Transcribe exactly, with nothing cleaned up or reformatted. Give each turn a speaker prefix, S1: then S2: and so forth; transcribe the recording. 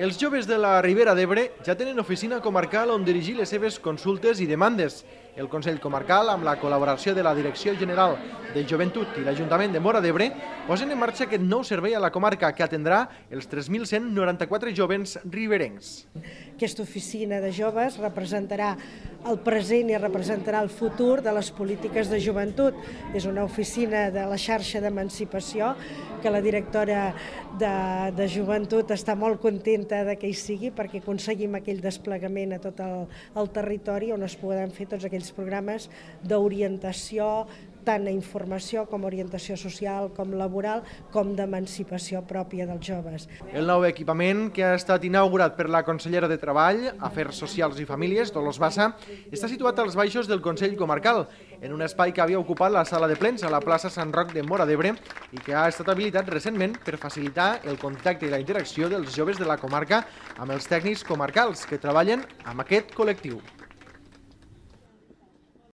S1: Els joves de la Ribera d'Ebre ja tenen oficina comarcal on dirigir les seves consultes i demandes. El Consell Comarcal, amb la col·laboració de la Direcció General de Joventut i l'Ajuntament de Móra d'Ebre, posen en marxa aquest nou servei a la comarca que atendrà els tres mil cent noranta-quatre jovens riberencs.
S2: Aquesta oficina de joves representarà el present i representarà el futur de les polítiques de joventut. És una oficina de la xarxa d'emancipació que la directora de, de joventut està molt contenta de que hi sigui perquè aconseguim aquell desplegament a tot el, el territori on es poden fer tots aquells programes d'orientació, tant a informació com a orientació social, com laboral, com d'emancipació pròpia dels joves.
S1: El nou equipament, que ha estat inaugurat per la consellera de Treball, Afers Socials i Famílies, Dolors Bassa, està situat als baixos del Consell Comarcal, en un espai que havia ocupat la sala de plens a la plaça Sant Roc de Móra d'Ebre i que ha estat habilitat recentment per facilitar el contacte i la interacció dels joves de la comarca amb els tècnics comarcals que treballen amb aquest col·lectiu.